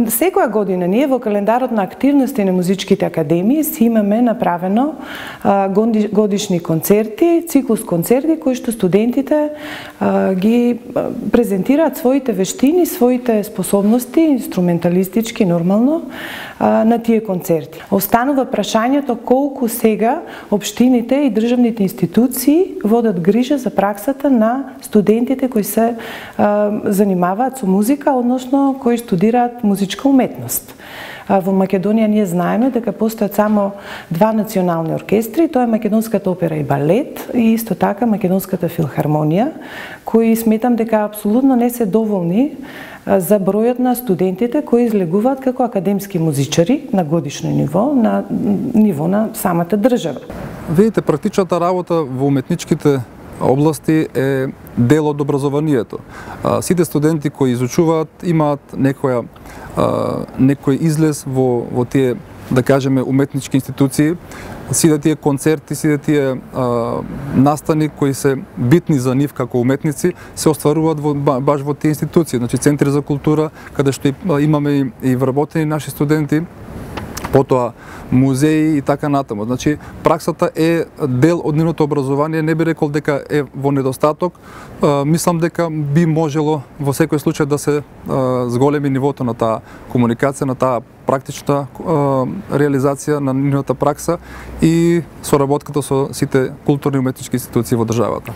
Секоја година ние во календарот на активности на музичките академии си имаме направено годишни концерти, циклус концерти кои што студентите ги презентираат своите вештини, своите способности, инструменталистички нормално на тие концерти. Останува прашањето колку сега општините и државните институции водат грижа за праксата на студентите кои се занимаваат со музика, односно кои студираат музичка уметност. Во Македонија ние знаеме дека постојат само два национални оркестри, тоа е Македонската опера и балет и исто така Македонската филхармонија, кои сметам дека апсолутно не се доволни за бројот на студентите кои излегуваат како академски музичари на годишно ниво, на ниво на самата држава. Видите, практичната работа во уметничките области е дел од образованието. Сите студенти кои изучуваат имаат некој излез во тие, да кажеме, уметнички институции, сите тие концерти, сите тие настани кои се битни за нив како уметници, се остваруваат баш во тие институции, значи центри за култура, каде што имаме и вработени наши студенти, потоа музеи и така натаму. Значи, праксата е дел од нивното образование, не би рекол дека е во недостаток. Мислам дека би можело во секој случај да се зголеми нивото на таа комуникација, на таа практична реализација на нивната пракса и соработката со сите културни и уметнички институции во државата.